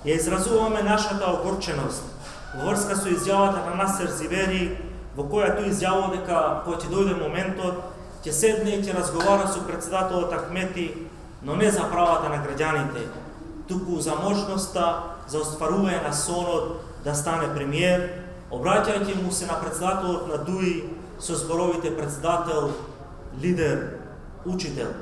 Ја изразуваме нашата огорченост во врска со изјавата на Насер Зивери, во која тој изјавува дека кога ќе дојде моментот, ќе седне и ќе разговара со председателот Ахмети, но не за правата на граѓаните, туку за можноста за остварување на сонот да стане премиер, обраќајќи му се на председателот на ДУИ со зборовите председател, лидер, учител.